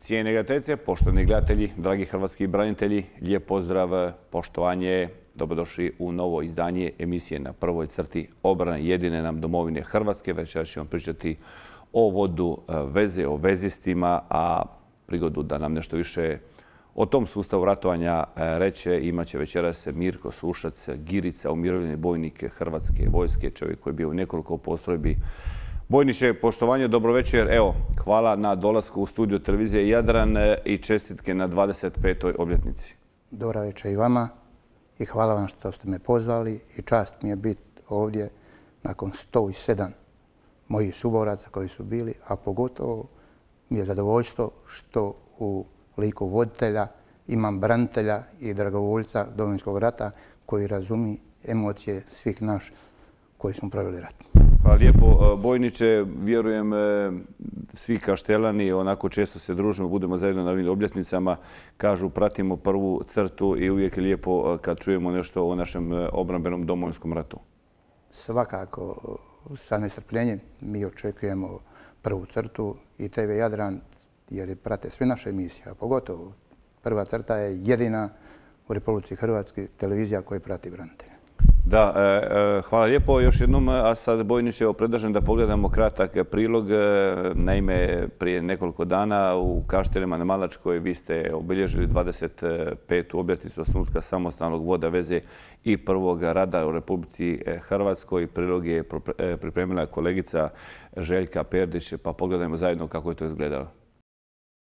Cijene gledateljice, poštovani gledatelji, dragi hrvatski branitelji, lijep pozdrav, poštovanje, dobrodošli u novo izdanje emisije Na prvoj crti obrane jedine nam domovine Hrvatske. Večeras ćemo pričati o vodu veze, o vezistima, a prigodu da nam nešto više o tom sustavu ratovanja reće imat će večeras Mirko Sušac, Girica, umirovljeni bojnik Hrvatske vojske, čovjek koji je bio u nekoliko postrojbi. Bojniče, poštovanje, dobro večer. Evo, hvala na dolasku u studio televizije Jadran i čestitke na 25. obljetnici. Dobra večer i vama i hvala vam što ste me pozvali i čast mi je biti ovdje nakon 107 mojih suboraca koji su bili, a pogotovo mi je zadovoljstvo što u liku voditelja imam branitelja i dragovoljca Domovinskog rata koji razumi emocije svih nas koji smo proveli rat. Hvala lijepo, bojniče. Vjerujem svi kaštelani, onako često se družimo, budemo zajedno na ovim obljetnicama, kažu pratimo prvu crtu i uvijek je lijepo kad čujemo nešto o našem obrambenom Domovinskom ratu. Svakako, sa nestrpljenjem mi očekujemo prvu crtu i TV Jadran jer prate sve naše emisije, a pogotovo prva crta je jedina u Republici Hrvatskoj televizija koja prati branitelja. Da, hvala lijepo još jednom, a sad bojniče predlažem da pogledamo kratak prilog. Naime, prije nekoliko dana u Kaštelima na Malačkoj vi ste obilježili 25. obljetnicu osnutka samostalnog voda veze i prvog rada u Republici Hrvatskoj. Prilog je pripremila kolegica Željka Perdić, pa pogledajmo zajedno kako je to izgledalo.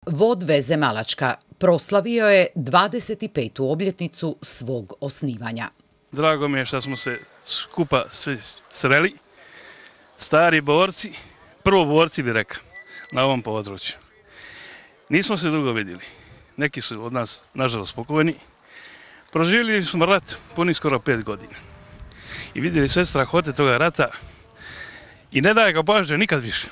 Vod veze Malačka proslavio je 25. obljetnicu svog osnivanja. Drago mi je što smo se skupa svi sreli, stari borci, prvoborci bi rekao, na ovom području. Nismo se dugo vidjeli, neki su od nas nažalost pokojni. Proživjeli smo rat puni skoro 5 godina i vidjeli sve strahote toga rata i ne daje ga Bože nikad više,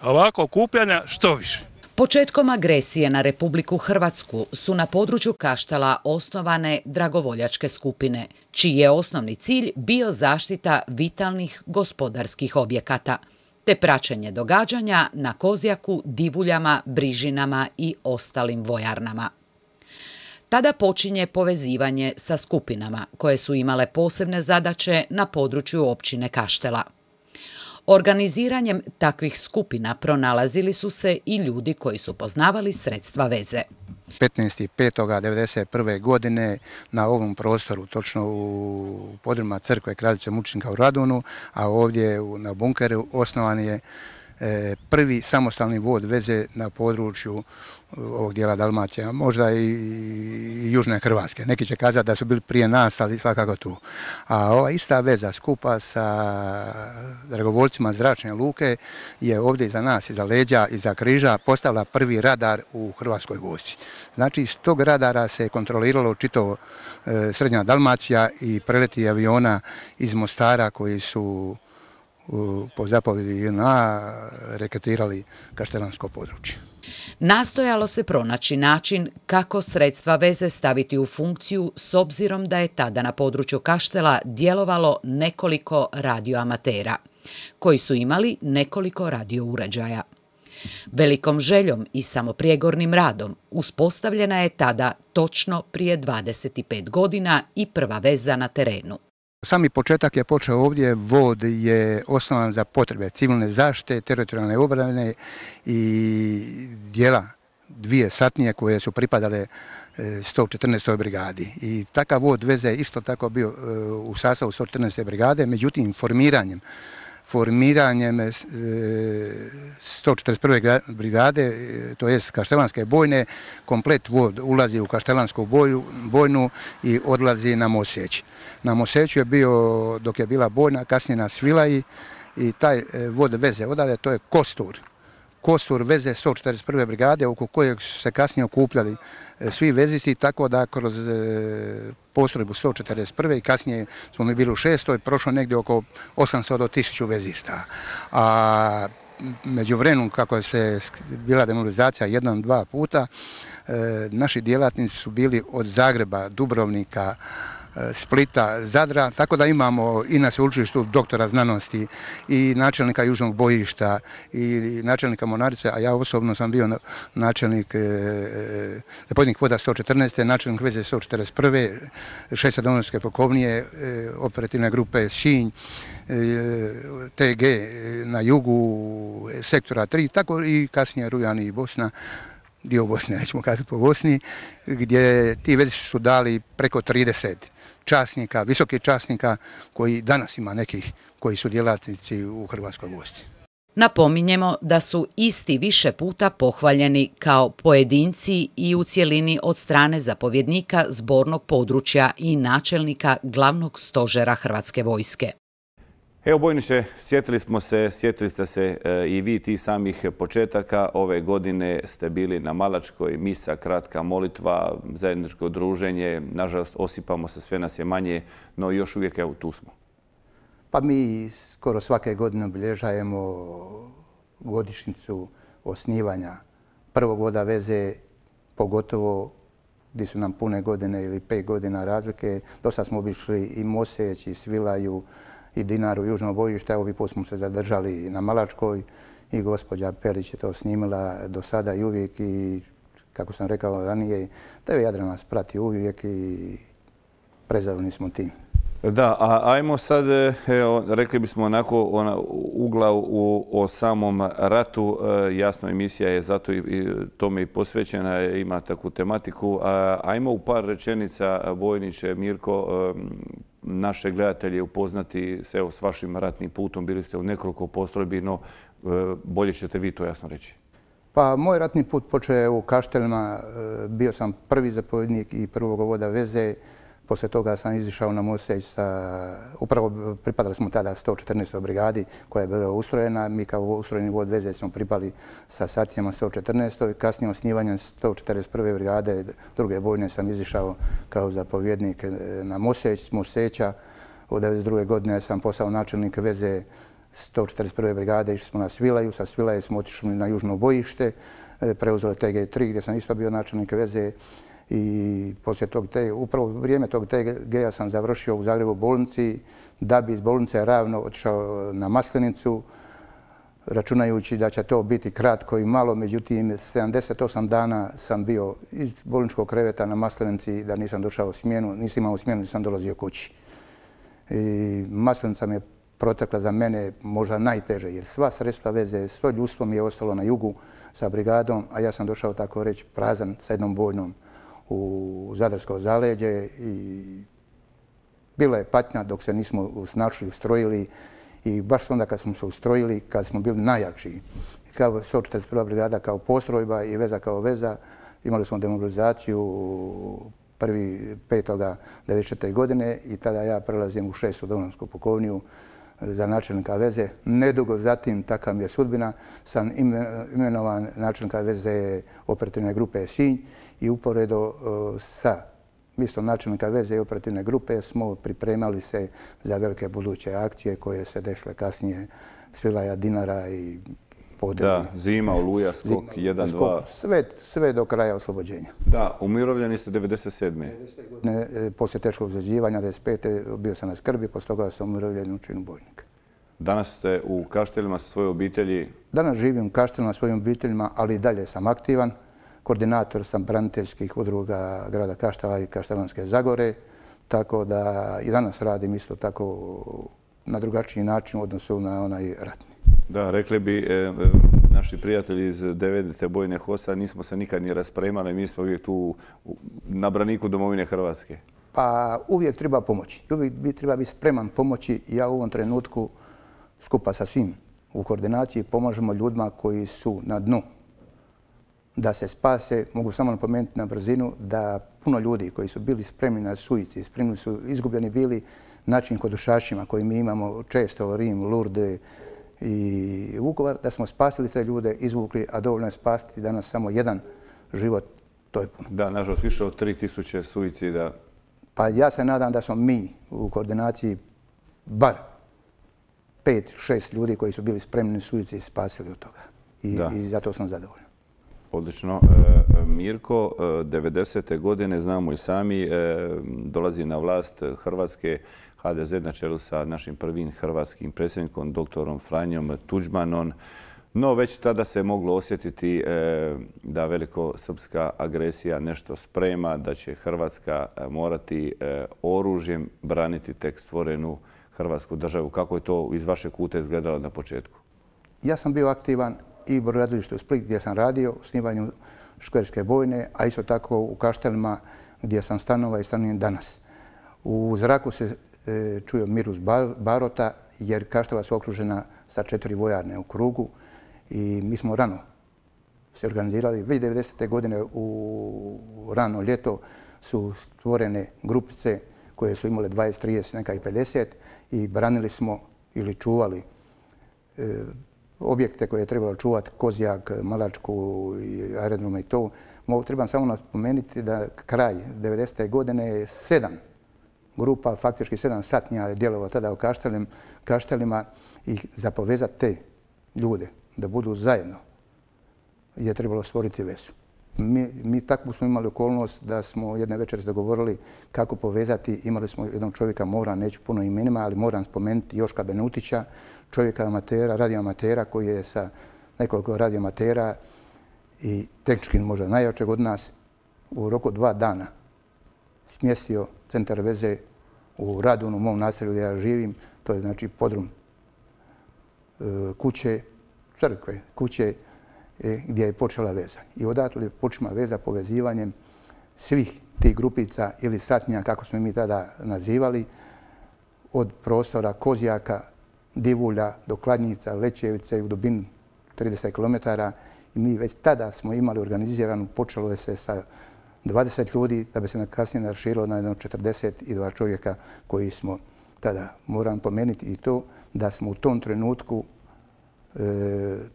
a ovako okupljanja što više. Početkom agresije na Republiku Hrvatsku su na području Kaštela osnovane dragovoljačke skupine, čiji je osnovni cilj bio zaštita vitalnih gospodarskih objekata, te praćenje događanja na Kozjaku, Divuljama, Brižinama i ostalim vojarnama. Tada počinje povezivanje sa skupinama koje su imale posebne zadaće na području općine Kaštela. Organiziranjem takvih skupina pronalazili su se i ljudi koji su poznavali sredstva veze. 15.5.1991. godine na ovom prostoru, točno u podrumima crkve Kraljice Mučenika u Radunu, a ovdje na bunkeru osnovan je prvi samostalni vod veze na području ovog dijela Dalmacije, možda i južne Hrvatske. Neki će kazati da su bili prije nas, ali svakako tu. A ova ista veza skupa sa dragovoljcima zračne luke je ovdje iza nas, iza leđa, iza križa postavila prvi radar u Hrvatskoj vojsci. Znači, iz tog radara se kontroliralo čitavo srednja Dalmacija i preleti aviona iz Mostara koji su po zapovjedi JNA reketirali kaštelansko područje. Nastojalo se pronaći način kako sredstva veze staviti u funkciju s obzirom da je tada na području Kaštela djelovalo nekoliko radioamatera, koji su imali nekoliko radio uređaja. Velikom željom i samoprijegornim radom uspostavljena je tada točno prije 25 godina i prva veza na terenu. Sami početak je počeo ovdje, vod je osnovan za potrebe civilne zaštite, teritorijalne obrane i dijela dvije satnije koje su pripadale 114. brigadi. I takav vod veze isto tako bio u sastavu 114. brigade, međutim formiranjem 141. brigade, to jest Kaštelanske bojne, komplet vod ulazi u Kaštelansku bojnu i odlazi na Moseć. Na Moseću je bio, dok je bila bojna, kasnije na Svilaji i taj vod veze odavde, to je kostur veze 141. brigade oko kojeg su se kasnije okupljali svi vezisti, tako da kroz postrojbu 141. i kasnije smo mi bili u 6. prošlo negdje oko 800 do 1000 vezista. A međuvremenu kako se bila demobilizacija 1-2 puta, naši djelatnici su bili od Zagreba, Dubrovnika, Splita, Zadra, tako da imamo i na sveučilištu doktora znanosti i načelnika južnog bojišta i načelnika mornarice, a ja osobno sam bio načelnik zapovjednik voda 114. načelnik veze 141. 6. domovinske pukovnije, operativne grupe Sinj, TG na jugu sektora 3, tako i kasnije Rujani i Bosna, dio Bosne, nećemo kazati po Bosni, gdje ti vezi su dali preko 30 časnika, visokih časnika, koji danas ima nekih koji su djelatnici u Hrvatskoj vojsci. Napominjemo da su isti više puta pohvaljeni kao pojedinci i u cjelini od strane zapovjednika zbornog područja i načelnika glavnog stožera Hrvatske vojske. Evo, bojniče, sjetili ste se i vi ti samih početaka. Ove godine ste bili na Malačkoj, misa, kratka molitva, zajedničko druženje. Nažalost, osipamo se, sve nas je manje, no još uvijek, evo, tu smo. Pa mi skoro svake godine obilježajemo godišnjicu osnivanja prvog voda veze, pogotovo gdje su nam pune godine ili 5 godina razlike. Dosta smo obišli i Moseć, i Svilaju, i Dinaru, južno bojište. Ovi put smo se zadržali na Malačkoj i gospođa Perić je to snimila do sada i uvijek, i kako sam rekao ranije, TV Jadran nas prati uvijek i prezadovoljni smo tim. Da, a ajmo sad, rekli bismo onako ugla o samom ratu. Jasno, emisija je zato i tome i posvećena, ima takvu tematiku. Ajmo u par rečenica, bojniče, Mirko, naše gledatelje upoznati se s vašim ratnim putom. Bili ste u nekoliko postrojbi, no bolje ćete vi to jasno reći. Pa moj ratni put počeo je u Kaštelima. Bio sam prvi zapovjednik i prvog voda veze. Poslije toga sam izišao na Moseć upravo pripadali smo tada 114. brigadi koja je bila ustrojena. Mi kao ustrojeni vod veze smo pripali sa satnijama 114. Kasnije osnivanjem 141. brigade druge bojne sam izišao kao zapovjednik na Moseć. S Moseća od 1992. godine sam postao načelnik veze 141. brigade. Išli smo na Svilaju. Sa Svilaje smo otišli na južno bojište. Preuzeli TG3 gdje sam isto bio načelnik veze. I poslije upravo vrijeme tog TG-a sam završio u Zagrebu bolnici, da bi iz bolnice Ravno otišao na Maslenicu, računajući da će to biti kratko i malo. Međutim, 78 dana sam bio iz bolničkog kreveta na Maslenici, da nisam došao u smjenu, nisam imao smjenu, nisam dolazio kući. I Maslenica mi je protekla za mene možda najteže, jer sva sredstva veze, svo ljudstvo mi je ostalo na jugu sa brigadom, a ja sam došao, tako reći, prazan sa jednom bojnom u Zadarsko zaleđe i bila je patnja dok se nismo snašli, ustrojili, i baš onda kad smo se ustrojili, kad smo bili najjači, kao 141. brigada kao postrojba i veza kao veza, imali smo demobilizaciju 1.5.1994. godine i tada ja prelazim u 6. domovinsku pukovniju za načelnika veze. Nedugo zatim, takva mi je sudbina, sam imenovan načelnika veze operativne grupe Sinj i uporedo sa mjestom načelnika veze i operativne grupe smo pripremali se za velike buduće akcije koje se desile kasnije, Svilaja, Dinara i Podrinje. Da, zima, Oluja, skok 1-2. Sve do kraja oslobođenja. Da, umirovljeni ste 97. Poslije teškog ozljeđivanja 95. bio sam na skrbi, poslije toga sam umirovljen u činu bojnika. Danas ste u Kaštelima sa svojoj obitelji? Danas živim u Kaštelima sa svojim obiteljima, ali i dalje sam aktivan. Koordinator sam braniteljskih udruga grada Kaštela i Kaštelanske Zagore, tako da i danas radim isto tako na drugačiji način u odnosu na onaj ratni. Da, rekli bi naši prijatelji iz 9. bojne HOS-a, nismo se nikad ni raspremali, mi smo uvijek tu na braniku domovine Hrvatske. Pa uvijek treba pomoći. Uvijek treba biti spreman pomoći. Ja u ovom trenutku skupa sa svim u koordinaciji pomažemo ljudima koji su na dnu da se spase. Mogu samo napomenuti na brzinu da puno ljudi koji su bili spremni na suicid, spremni su izgubljeni bili način kodušašima koji mi imamo često, Rim, Lourdes i Vukovar, da smo spasili te ljude, izvukli, a dovoljno je spasiti danas samo jedan život, to je puno. Da, nažalost, više od 3000 suicida. Pa ja se nadam da smo mi u koordinaciji bar 5-6 ljudi koji su bili spremni suicid i spasili od toga. I zato sam zadovoljan. Odlično. Mirko, 90. godine, znamo i sami, dolazi na vlast Hrvatske HDZ na čelu sa našim prvim hrvatskim predsjednikom, doktorom Franjom Tuđmanom. No, već tada se moglo osjetiti da velikosrpska agresija nešto sprema, da će Hrvatska morati oružjem braniti tek stvorenu Hrvatsku državu. Kako je to iz vašeg kuta izgledalo na početku? Ja sam bio aktivan i u brodogradilištu u Split gdje sam radio u snimanju škverske bojne, a isto tako u Kaštelima gdje sam stanovao i stanujem danas. U zraku se čuje mirus barota jer Kaštela su okružena sa 4 vojarne u krugu i mi smo rano se organizirali. Već 90. godine u rano ljeto su stvorene grupice koje su imale 20, 30, neka i 50 i branili smo ili čuvali objekte koje je trebalo čuvati, Kozjak, Malačku i aerodrome i to. Trebam samo napomenuti da kraj 90. godine je 7 grupa, faktički 7 satnija je djelovalo tada u Kaštelima i za povezati te ljude da budu zajedno je trebalo stvoriti vezu. Mi takvu smo imali okolnost da smo jedne večeri dogovorili kako povezati. Imali smo jednog čovjeka, neću puno imenima, ali moram spomenuti Joška Benutića, čovjeka amatera, radioamatera koji je sa nekoliko radioamatera i tehnički možda najjačeg od nas u roku 2 dana smjestio centar veze u Radunu, u mom naselju gdje ja živim. To je znači podrum kuće, crkve, kuće gdje je počela veza. I odatle počela veza povezivanjem svih tih grupica ili satnija, kako smo mi tada nazivali, od prostora Kozjaka, Divulja do Kladnjica, Lećevice u dubinu 30 km. I mi već tada smo imali organiziranu, počelo je se sa 20 ljudi, da bi se kasnije naširilo na 42 čovjeka koji smo tada, moram pomenuti i to, da smo u tom trenutku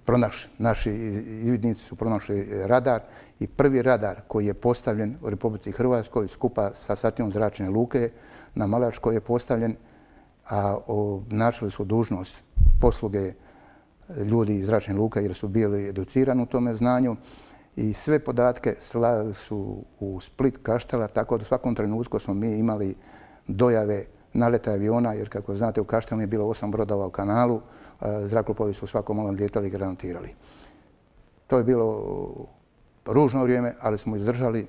pronašli, naši izvidnici su pronašli radar i prvi radar koji je postavljen u Republici Hrvatskoj skupa sa satnijom zračne luke na Malačkoj je postavljen, a obnašali su dužnost posluge ljudi iz zračne luke jer su bili educirani u tome znanju i sve podatke slali su u Split, Kaštela, tako da u svakom trenutku smo mi imali dojave naleta aviona, jer kako znate u Kaštelu je bilo 8 brodova u kanalu, zrakoplovi su svako malo lijetali i granatirali. To je bilo ružno vrijeme, ali smo izdržali.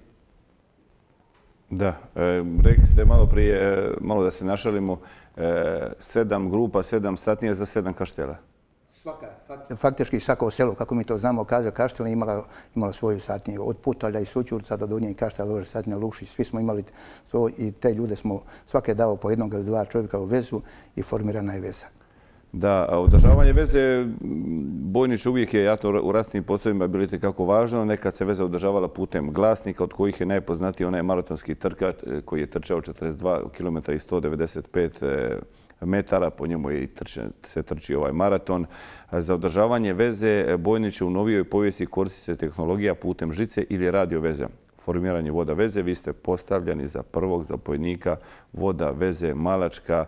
Da, rekli ste malo prije, malo da se našalimo, 7 grupa, 7 satnija za 7 kaštela. Faktički svako selo, kako mi to znamo, kaže Kaštela imala svoju satniju. Od Putalja i Sućurca do Donje i Kaštela, satnija Lukšić, svi smo imali to i te ljude smo svake dao po jednog ili 2 čovjeka u vezu i formirana je veza. Da, održavanje veze, Bojnić uvijek je, ja to u ratnim poslovima bilo itekako važno, nekad se veza održavala putem glasnika, od kojih je najpoznatiji onaj maratonski trkač koji je trčao 42 km i 195 metara, po njemu je se trči ovaj maraton. Za održavanje veze Bojnića u novijoj povijesti koristi se tehnologija putem žice ili radio veze. Formiranje voda veze, vi ste postavljeni za prvog zapovjednika voda veze Malačka.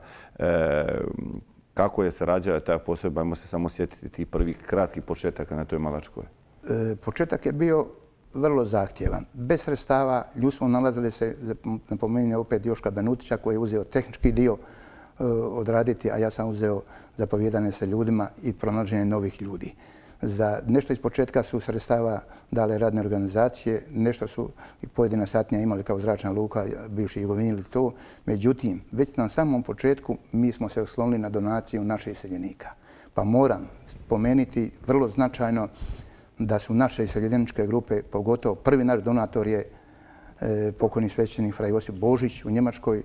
Kako je se rađala ta postrojba? Ajmo se samo sjetiti tih prvih kratkih početaka na toj Malačkoj. Početak je bio vrlo zahtjevan. Bez sredstava ljudi smo nalazili se, napominjem opet Joška Benutića koji je uzeo tehnički dio odraditi, a ja sam uzeo zapovjedanje sa ljudima i pronalaženje novih ljudi. Za nešto iz početka su sredstava dale radne organizacije, nešto su i pojedina satnija imali kao zračna luka, bivši Jugovini ili to. Međutim, već na samom početku mi smo se oslonili na donaciju naših iseljenika. Pa moram spomenuti vrlo značajno da su naše iseljeničke grupe, pogotovo prvi naš donator je pokojni svećenik fra Josip Božić u Njemačkoj,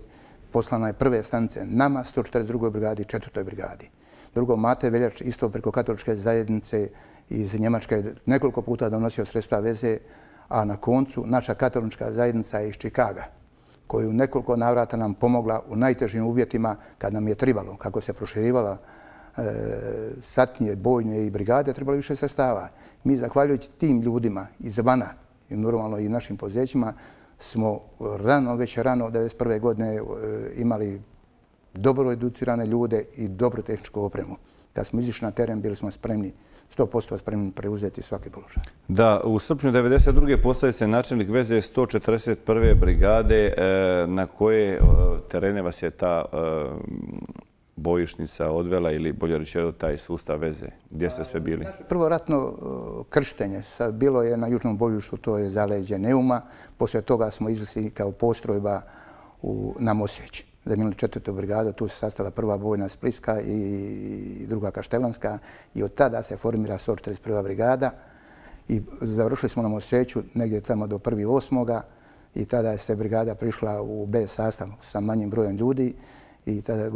poslana je prve stanice nama, 142. brigadi i 4. brigadi. Drugo, Mate Veljač isto preko katoličke zajednice iz Njemačke nekoliko puta donosio sredstva veze, a na koncu naša katolička zajednica je iz Čikaga, koju nekoliko navrata nam pomogla u najtežim uvjetima kad nam je trebalo, kako se proširivala satnije, bojne i brigade, trebalo više sredstava. Mi, zahvaljujući tim ljudima izvana i normalno i našim poduzećima, smo već rano 1991. godine imali dobro educirane ljude i dobru tehničku opremu. kad smo izišli na teren, bili smo spremni, 100% spremni preuzeti svaki položaj. Da, u srpnju 1992. postaje se načelnik veze 141. brigade. Na koje terene vas je ta bojišnica odvela ili bolje rečeno taj sustav veze? Gdje ste sve bili? Prvo ratno krštenje bilo je na južnom bojištu, to je zaleđe Neuma. Poslije toga smo izlazili kao postrojba na Mosjeć. Zamijenili 4. brigadu, tu se sastala prva bojna Splitska i druga Kaštelanska i od tada se formira 141. brigada i završili smo na Mosjeću negdje tamo do 1.8. i tada je se brigada prišla u B sastav sa manjim brojem ljudi i tada je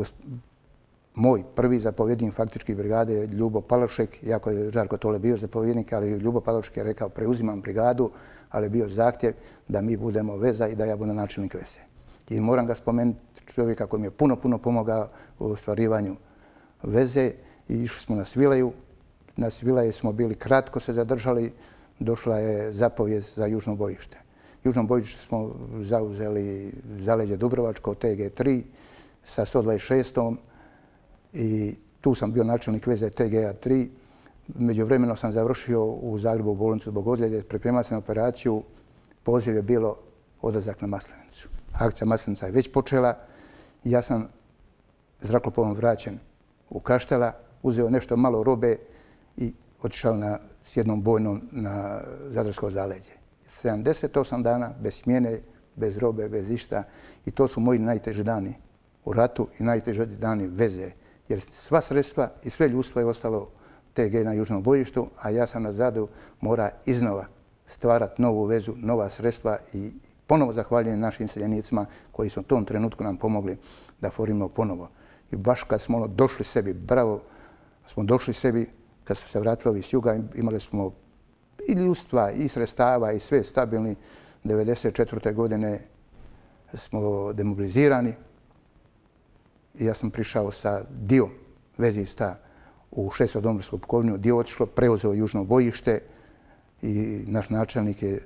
moj prvi zapovjednik faktički brigade je Ljubo Palošek, iako je Žarko Tole bio zapovjednik, ali Ljubo Palošek je rekao preuzimam brigadu, ali je bio zahtjev da mi budemo veza i da ja budem načelnik veze. I moram ga spomenuti, čovjeka koji mi je puno pomogao u ostvarivanju veze i išli smo na Svilaju. Na Svilaje smo bili kratko se zadržali, došla je zapovijed za južno bojište. Južno bojište smo zauzeli zaleđe Dubrovačko, TG3 sa 126. I tu sam bio načelnik veze TGA 3. Međuvremeno sam završio u Zagrebu u bolnicu zbog ozljede, pripremao sam operaciju, poziv je bilo odlazak na Maslenicu. Akcija Maslenica je već počela. Ja sam zrakoplovom vraćen u Kaštela, uzeo nešto malo robe i otišao s jednom bojnom na Zadarsko zaleđe. 78 dana bez smjene, bez robe, bez išta i to su moji najteži dani u ratu i najteži dani veze. Jer sva sredstva i sve ljudstvo je ostalo TG na južnom bojištu, a ja sam na Zadru mora iznova stvarati novu vezu, nova sredstva i ponovo zahvaljujem našim seljenicima koji su u tom trenutku nam pomogli da formimo ponovo. I baš kad smo došli sebi, bravo, smo došli sebi, kad su se vratili ovi s juga, imali smo i ljudstva, i sredstava, i sve stabilni. 1994. godine smo demobilizirani i ja sam prišao sa dio vezista u 6. domovinsku pukovniju, dio otišlo, preuzeo južno bojište i naš načelnik je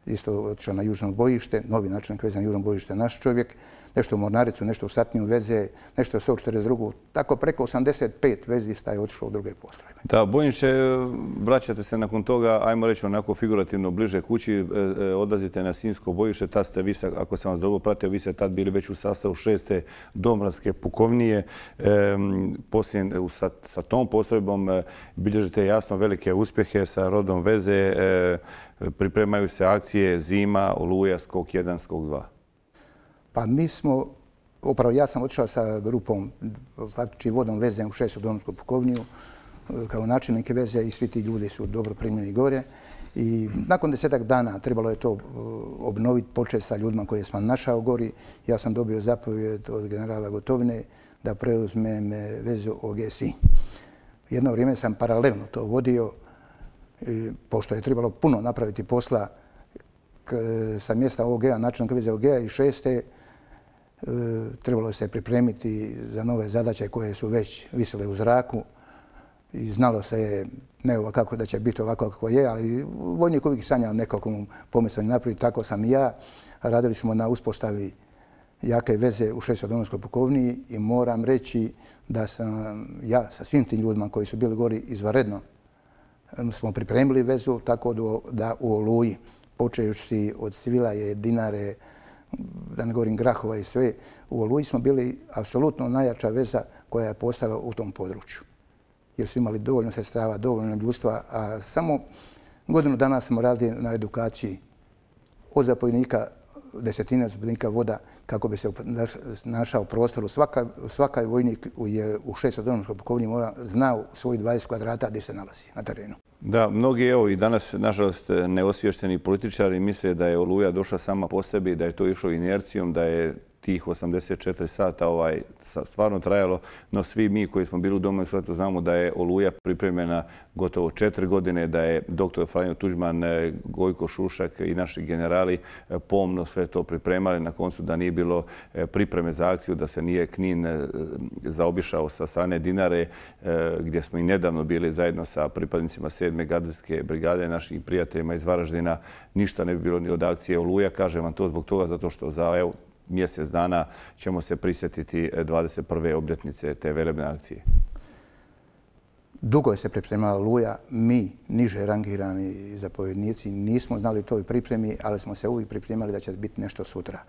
isto otišao na južno bojište, novi načelnik veze na južno bojište, naš čovjek, nešto u Mornaricu, nešto u Satniju veze, nešto u 142. Tako preko 85 vezista je otišlo u druge postrojbe. Da, bojniče, vraćate se nakon toga, ajmo reći onako figurativno bliže kući, odlazite na Sinjsko bojište, tad ste vi, ako sam vas dobro pratio, vi ste tad bili već u sastavu 6. domobranske pukovnije. Poslije sa tom postrojbom bilježite jasno velike uspjehe sa rodom veze, pripremaju se akcije Zima, Oluja, Skok 1, Skok 2. Pa mi smo, upravo ja sam otišao sa grupom, faktički vodom veze u 6. domovinsku pukovniju, kao načelnike veze i svi ti ljudi su dobro primljeni gore. I nakon 10 dana trebalo je to obnoviti, početi sa ljudima koje sam našao gori. Ja sam dobio zapovjed od generala Gotovine da preuzmem vezu OG-SI. Jedno vrijeme sam paralelno to vodio, pošto je trebalo puno napraviti posla sa mjesta OG-a, načelnika veze OG-a i 6. Trebalo se pripremiti za nove zadaće koje su već visile u zraku. I znalo se ne kako da će biti ovako kako je, ali vojnik uvijek sanja nekakvom pomicanju napraviti, tako sam i ja. Radili smo na uspostavi jake veze u 6. domovinskoj pukovniji i moram reći da sam ja sa svim tim ljudima koji su bili gori izvanredno smo pripremili vezu tako da u Oluji, počejući od Svilaje, Dinare, da ne govorim Grahova i sve, u Oluji smo bili apsolutno najjača veza koja je postala u tom području. Jer su imali dovoljno sredstava, dovoljno ljudstva, a samo godinu dana smo radili na edukaciji od zapovjednika, desetine zapovjednika voda, kako bi se našao prostoru. Svaki vojnik je u 6. domovinskoj pukovniji znao svojih 20 kvadrata gdje se nalazi na terenu. Da, mnogi evo i danas, nažalost, neosvješteni političari misle da je Oluja došla sama po sebi, da je to išlo inercijom, da je tih 84 sata stvarno trajalo, no svi mi koji smo bili u Domovinskom ratu znamo da je Oluja pripremljena gotovo 4 godine, da je dr. Franjo Tuđman, Gojko Šušak i naši generali pomno sve to pripremali. Na koncu da nije bilo pripreme za akciju, da se nije Knin zaobišao sa strane Dinare, gdje smo i nedavno bili zajedno sa pripadnicima 7. gardijske brigade, našim prijateljima iz Varaždina, ništa ne bi bilo ni od akcije Oluja. Kažem vam to zbog toga zato što za mjesec dana ćemo se prisjetiti 21. obljetnice te velebne akcije. Dugo je se pripremala Oluja, mi, niže rangirani zapovjednici, nismo znali toj pripremi, ali smo se uvijek pripremali da će biti nešto sutra.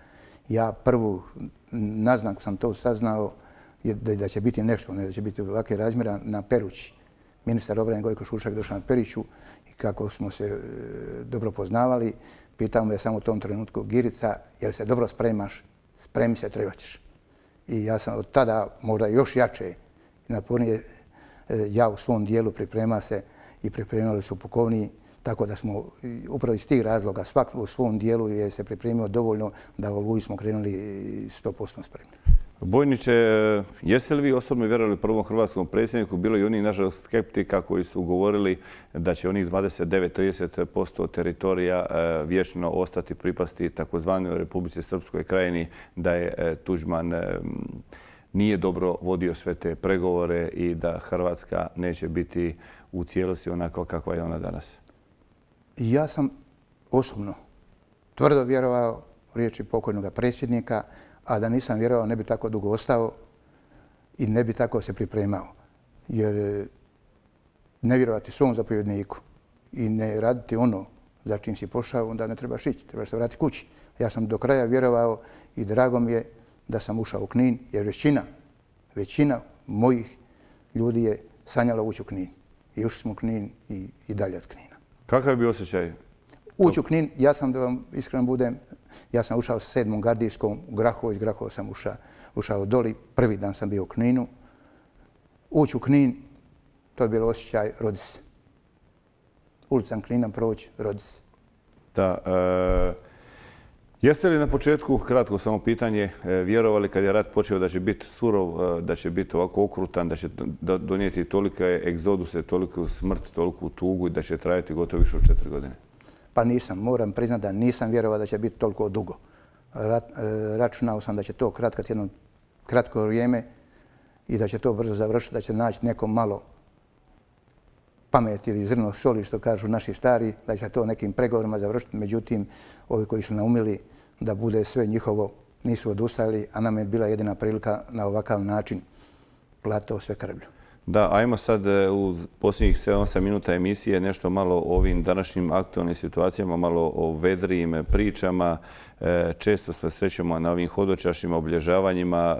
Ja prvu naznaku sam to saznao da će biti nešto, ne da će biti ovakve razmjera na Perući. Ministar obrane Gojko Šušak došao na Periću i kako smo se dobro poznavali, pitao me samo u tom trenutku: Girica, jel se dobro spremaš? Spremi se, treba ćeš. I ja sam od tada možda još jače i napornije ja u svom dijelu priprema se i pripremali su pukovniji, tako da smo upravo iz tih razloga svak u svom dijelu je se pripremio dovoljno da u Oluji smo krenuli 100% spremni. Bojniče, jeste li vi osobno vjerovali prvom hrvatskom predsjedniku? Bilo i oni, nažalost, skeptika koji su govorili da će onih 29-30% teritorija vječno ostati pripasti takozvanoj Republici Srpskoj krajini, da je Tuđman nije dobro vodio sve te pregovore i da Hrvatska neće biti u cijelosti onako kakva je ona danas? Ja sam osobno tvrdo vjerovao riječi pokojnog predsjednika, a da nisam vjerovao ne bi tako dugo ostao i ne bi tako se pripremao. Jer ne vjerovati svom zapovjedniku i ne raditi ono za čim si pošao, onda ne trebaš ići, trebaš se vratiti kući. Ja sam do kraja vjerovao i drago mi je da sam ušao u Knin, jer većina mojih ljudi je sanjala ući u Knin. I ušli smo u Knin i dalje od Knina. Kakav je bio osjećaj? Ući u Knin, ja sam, da vam iskreno budem, ja sam ušao sa 7. gardijskom u Grahovo, iz Grahova sam ušao doli, prvi dan sam bio u Kninu. Ući u Knin, to je bilo osjećaj rodi se. Ulicam Knina proći, rodi se. Da. Jeste li na početku, kratko samo pitanje, vjerovali kad je rat počeo da će biti surov, da će biti ovako okrutan, da će donijeti tolike egzoduse, toliku smrt, toliku tugu i da će trajati gotovo više od 4 godine? Pa nisam, moram priznati da nisam vjerovao da će biti toliko dugo. Računao sam da će to kratkat jedno kratko vrijeme i da će to brzo završiti, da će naći neko malo pameti ili zrno soli, što kažu naši stari, da će to nekim pregovorima završiti. Međutim, ovi koji su naumili da bude sve njihovo nisu odustali, a nam je bila jedina prilika na ovakav način platiti sve krvlju. Da, ajmo sad u posljednjih 7-8 minuta emisije nešto malo o ovim današnjim aktualnim situacijama, malo o vedrijim pričama. Često se srećemo na ovim hodočašnim obilježavanjima.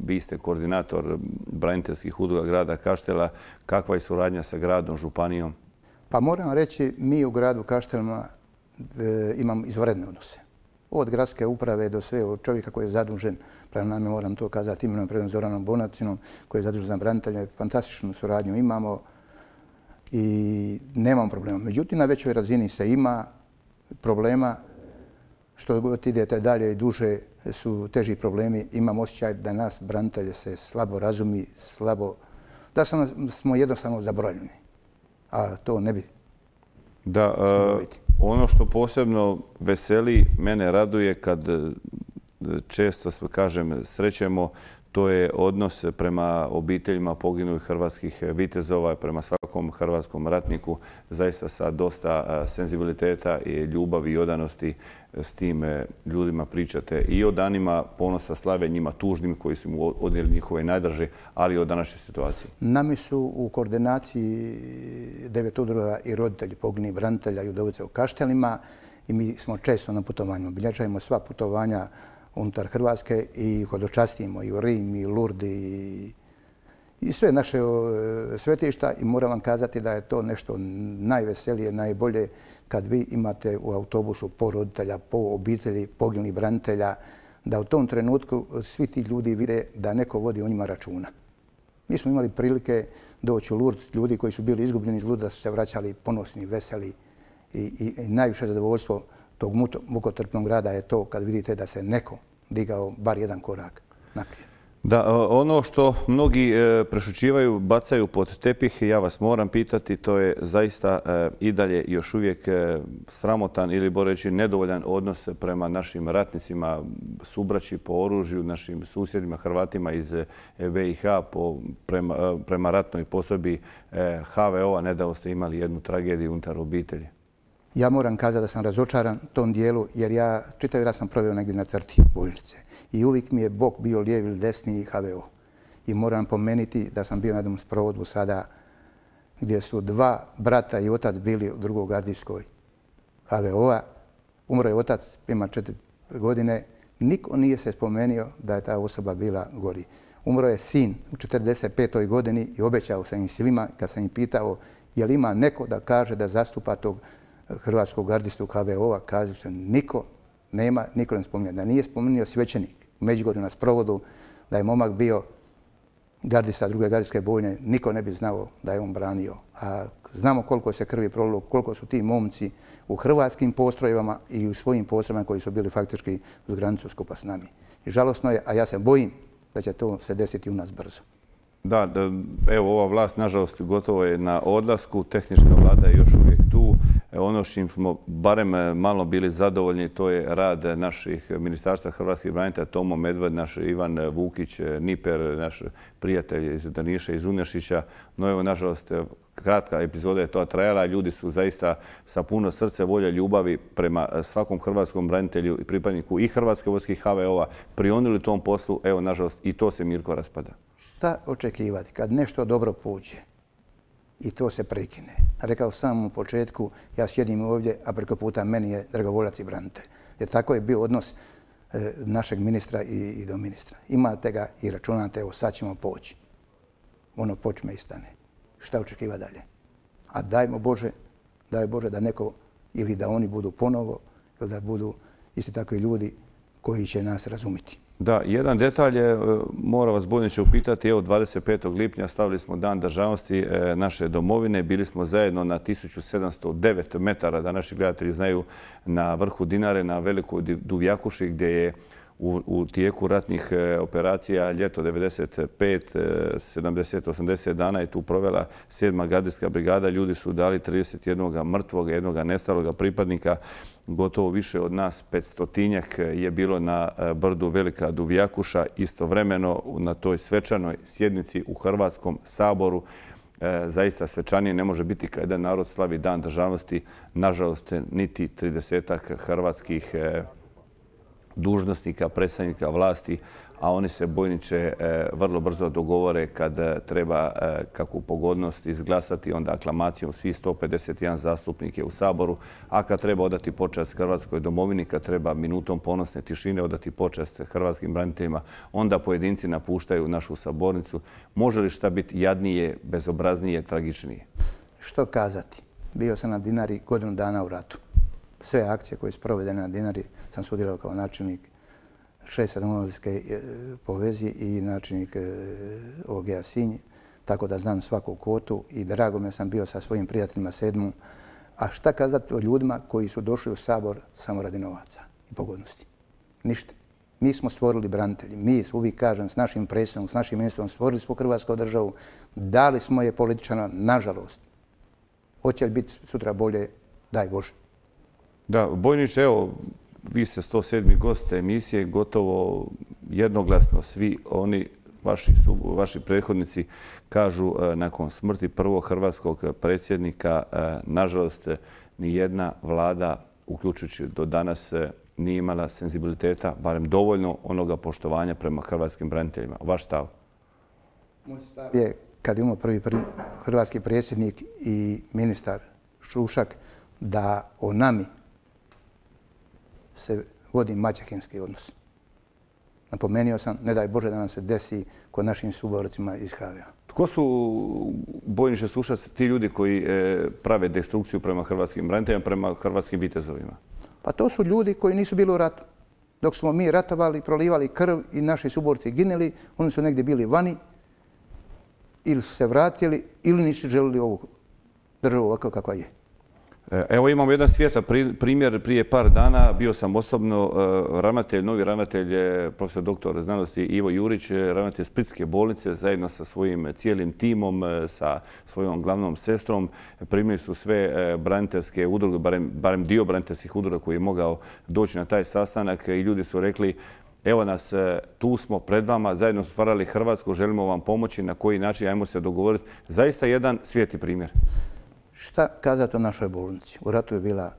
Vi ste koordinator braniteljskih udruga grada Kaštela. Kakva je suradnja sa gradom, županijom? Pa moram reći, mi u gradu Kaštelima imamo izvanredne odnose. Od gradske uprave do sve, od čovjeka koji je zadužen, prema nama moram to kazati, imenom predom Zoranom Bonacinom, koji je zadužen za branitelje, fantastičnu suradnju imamo i nemamo problema. Međutim, na većoj razini se ima problema, što god idete dalje i duže su teži problemi. Imam osjećaj da nas branitelje se slabo razumi, da smo jednostavno zaboravljeni, a to ne bi. Da, ono što posebno veseli, mene raduje kad često, kažem, srećemo, to je odnos prema obiteljima poginulih hrvatskih vitezova, prema svakom hrvatskom ratniku, zaista sa dosta senzibiliteta i ljubavi i odanosti s tim ljudima pričate i o danima ponosa, slave njima tužnim koji su mu odnijeli njihove najdraže, ali i o današnjoj situaciji. Nami su u koordinaciji 9 udruga i roditelji poginulih branitelja i udovice u Kaštelima i mi smo često na putovanjima. Obilježavamo sva putovanja unutar Hrvatske i hodočastimo i u Rim i Lurdi i sve naše svetišta i moram vam kazati da je to nešto najveselije, najbolje kad vi imate u autobusu po roditelja, po obitelji poginulih branitelja, da u tom trenutku svi ti ljudi vide da neko vodi o njima računa. Mi smo imali prilike doći u Lurd, ljudi koji su bili izgubljeni iz Lurda su se vraćali ponosni, veseli i najviše zadovoljstvo tog mukotrpnog rada je to kad vidite da se neko digao bar jedan korak naprijed. Da, ono što mnogi prešućivaju, bacaju pod tepih, ja vas moram pitati, to je zaista i dalje još uvijek sramotan ili boreći nedovoljan odnos prema našim ratnicima, subraći po oružju, našim susjedima Hrvatima iz BiH prema ratnoj posobi HVO-a. Nedavno ste imali jednu tragediju unutar obitelji. Ja moram kazati da sam razočaran tom dijelu jer ja čitav rat sam proveo negdje na crti bojišnice i uvijek mi je bok bio lijevi ili desni HVO. I moram pomenuti da sam bio na jednom sprovodu sada gdje su dva brata i otac bili u drugoj gardijskoj HVO-a. Umro je otac, ima 4 godine. Niko nije se spomenuo da je ta osoba bila gori. Umro je sin u 45. godini i obećao sam im svima, kad sam im pitao je li ima neko da kaže da zastupa tog hrvatskog gardistu HVO-a, kažu se niko nema, niko ne spominje. Da nije spomenuo svećenik u Međugorju na sprovodu, da je momak bio gardista druge gardijske bojne, niko ne bi znao da je on branio. A znamo koliko se krvi prolilo, koliko su ti momci u hrvatskim postrojbama i u svojim postrojbama koji su bili faktički uz granicu skupa s nami. I žalosno je, a ja se bojim da će to se desiti u nas brzo. Da, evo ova vlast, nažalost, gotovo je na odlasku. Tehnička vlada je još uvijek tu. Ono s čim smo barem malo bili zadovoljni, to je rad naših ministarstva hrvatskih branitelja, Tomo Medved, naš Ivan Vukić, Niper, naš prijatelj iz Daniša, iz Unešića. No evo, nažalost, kratka epizoda je to trajala. Ljudi su zaista sa puno srce, volje, ljubavi prema svakom hrvatskom branitelju i pripadniku i Hrvatske vojske i HVO-a prionuli tom poslu. Evo, nažalost, i to se Mirko raspada. Šta očekivati kad nešto dobro pođe i to se prekine? Rekao sam u početku, ja sjedim ovdje, a preko puta meni je dragovoljac i branitelj. Jer tako je bio odnos našeg ministra i do ministra. Imate ga i računate, evo sad ćemo poći. Ono počme i stane. Šta očekiva dalje? A daj Bože da neko, ili da oni budu ponovo, ili da budu isti takvi ljudi koji će nas razumjeti. Da, jedan detalj je, mora vas bojniče upitati, evo 25. lipnja stavili smo Dan državnosti naše domovine, bili smo zajedno na 1709 metara, da naši gledatelji znaju, na vrhu Dinare, na Velikoj Duvjakuši, gdje je u tijeku ratnih operacija ljeto 95, 70, 80 dana je tu provela 7. gardijska brigada. Ljudi su dali 31. mrtvog, 1. nestaloga pripadnika. Gotovo više od nas, 500-tinjak je bilo na brdu Velika Duvjakuša. Istovremeno na toj svečanoj sjednici u Hrvatskom saboru. Zaista svečanije ne može biti kada narod slavi Dan državnosti. Nažalost, niti 30-ak hrvatskih dužnosnika, predstavnika vlasti, a oni se bojniče vrlo brzo dogovore kad treba kakvu pogodnost izglasati, onda aklamacijom svi 151 zastupnik je u Saboru, a kad treba odati počast Hrvatskoj domovini, kad treba minutom ponosne tišine odati počast hrvatskim braniteljima, onda pojedinci napuštaju našu sabornicu. Može li šta biti jadnije, bezobraznije, tragičnije? Što kazati? Bio sam na Dinari godinu dana u ratu. Sve akcije koje su provedene na Dinari sam sudjelovao kao načelnik 6. domovinske povezi i načelnik OG-a Sinj, tako da znam svaku kotu i drago me sam bio sa svojim prijateljima 7. A šta kazati o ljudima koji su došli u Sabor samo radi novaca i pogodnosti? Ništa. Mi smo stvorili branitelji. Mi, uvijek kažem, s našim predsjednikom, s našim ministrom stvorili smo Hrvatsku državu. Dali smo je političana, nažalost. Hoće li biti sutra bolje? Daj Bože. Da, bojniče, evo, vi ste 107. gost emisije, gotovo jednoglasno svi oni, vaši prethodnici, kažu nakon smrti prvog hrvatskog predsjednika, nažalost, ni jedna vlada, uključujući do danas, nije imala senzibiliteta, barem dovoljno onoga poštovanja prema hrvatskim braniteljima. Vaš stav? Moj stav je, kad imamo prvi hrvatski predsjednik i ministar Šušak, da o nami se vodi maćehinski odnos. Napomenuo sam, ne daj Bože da nam se desi kod našim suborcima iz HVO-a. Tko su, bojniče Sušac, ti ljudi koji prave destrukciju prema hrvatskim braniteljima, prema hrvatskim vitezovima? Pa to su ljudi koji nisu bili u ratu. Dok smo mi ratovali, prolivali krv i naši suborci ginuli, oni su negdje bili vani ili su se vratili ili nisu želili ovu državu ovako kakva je. Evo imamo jedan svijetla primjer. Prije par dana bio sam osobno novi ravnatelj, profesor doktor znanosti Ivo Jurić, ravnatelj Splitske bolnice, zajedno sa svojim cijelim timom, sa svojom glavnom sestrom. Primili su sve braniteljske udruge, barem dio braniteljskih udruga koji je mogao doći na taj sastanak i ljudi su rekli: evo nas, tu smo pred vama, zajedno stvarali Hrvatsku, želimo vam pomoći, na koji način, ajmo se dogovoriti. Zaista jedan svijetli primjer. Šta kazati o našoj bolnici? U ratu je bila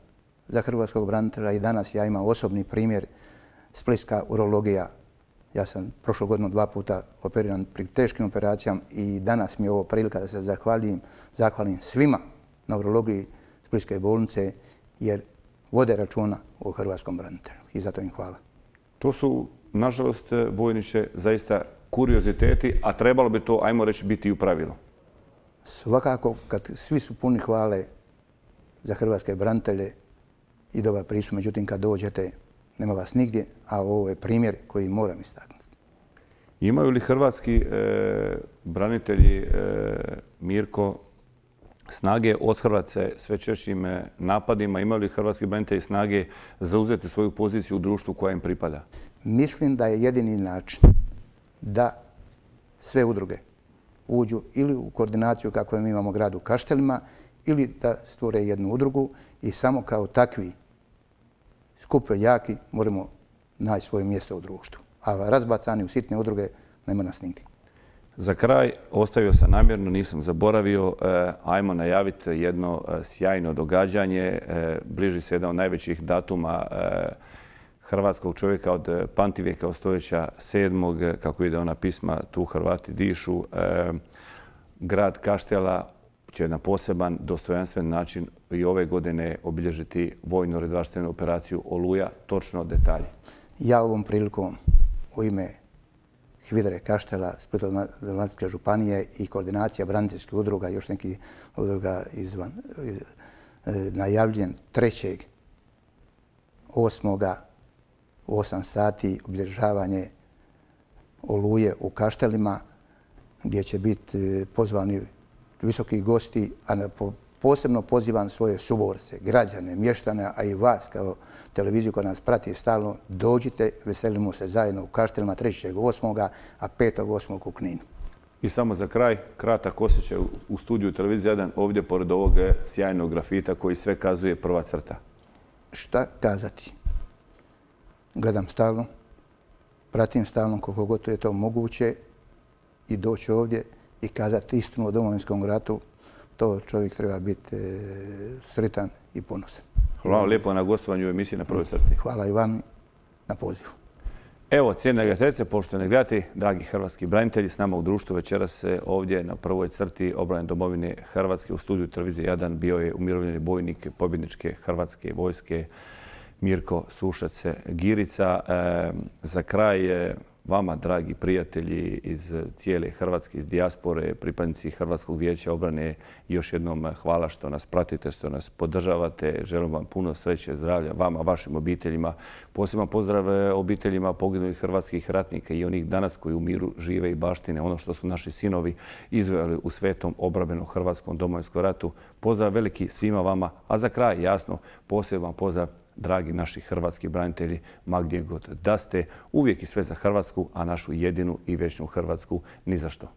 za hrvatskog branitelja i danas ja imam osobni primjer, splitska urologija. Ja sam prošlu godinu 2 puta operiran pri teškim operacijama i danas mi je ovo prilika da se zahvalim svima na urologiji Splitske bolnice jer vode računa o hrvatskom branitelju i zato im hvala. To su, nažalost, bojniče, zaista kurioziteti, a trebalo bi to, ajmo reći, biti i u pravilu. Svakako, kad svi su puni hvale za hrvatske branitelje i dobar pristup, međutim, kad dođete, nema vas nigdje, a ovo je primjer koji moram istaknuti. Imaju li hrvatski branitelji, Mirko, snage othrvati se sve češćim napadima? Imaju li hrvatski branitelji snage zauzeti svoju poziciju u društvu koja im pripada? Mislim da je jedini način da sve udruge uđu ili u koordinaciju kako mi imamo grad u Kaštelima ili da stvore jednu udrugu i samo kao takvi skupo jaki moramo naći svoje mjesto u društvu. A razbacani u sitne udruge nema nas nigdje. Za kraj, ostavio sam namjerno, nisam zaboravio, ajmo najaviti jedno sjajno događanje. Bliži se jedan od najvećih datuma hrvatskog čovjeka od pamtivijeka, od stoljeća 7. Kako ide ona pisma, tu Hrvati dišu. Grad Kaštela će na poseban, dostojanstven način i ove godine obilježiti vojno-redarstvenu operaciju Oluja. Točno detalje. Ja ovom prilikom u ime HVIDRA Kaštela, Splitsko-dalmatinske županije i koordinacija braniteljskih udruga, još nekih udruga izvan, najavljen 3.8. u 8 sati obilježavanje Oluje u Kaštelima, gdje će biti pozvani visoki gosti, a posebno pozivam svoje suborce, građane, mještane, a i vas kao televiziju koja nas prati stalno, dođite, veselimo se zajedno u Kaštelima 3.8. a 5.8. u Kninu. I samo za kraj, kratak osjećaj u studiju Televizije 1, ovdje pored ovog sjajnog grafita koji sve kazuje prva crta. Šta kazati? Gledam stalno, pratim stalno koliko god je to moguće i doći ovdje i kazati istinu o Domovinskom ratu, to čovjek treba biti sretan i ponosan. Hvala vam lijepo na gostovanju u emisiji Na prvoj crti. Hvala i vam na pozivu. Evo, cijenjene gledateljice, poštovani gledatelji, dragi hrvatski branitelji, s nama u društvu večeras ovdje na prvoj crti obrane domovine Hrvatske u studiju Televizije 1 bio je umirovljeni bojnik pobjedničke Hrvatske vojske Mirko Sušac Girica. Za kraj vama, dragi prijatelji iz cijele Hrvatske, iz dijaspore, pripadnici Hrvatskog vijeća obrane, još jednom hvala što nas pratite, što nas podržavate. Želim vam puno sreće, zdravlja, vama, vašim obiteljima. Poseban pozdrav obiteljima poginulih hrvatskih ratnika i onih danas koji u miru žive i baštine ono što su naši sinovi izvojali u svetom obrambenom hrvatskom Domovinskom ratu. Pozdrav veliki svima vama, a za kraj, jasno, poseban pozdrav dragi naši hrvatski branitelji, ma gdje god da ste, uvijek i sve za Hrvatsku, a našu jedinu i vječnu Hrvatsku ni za što.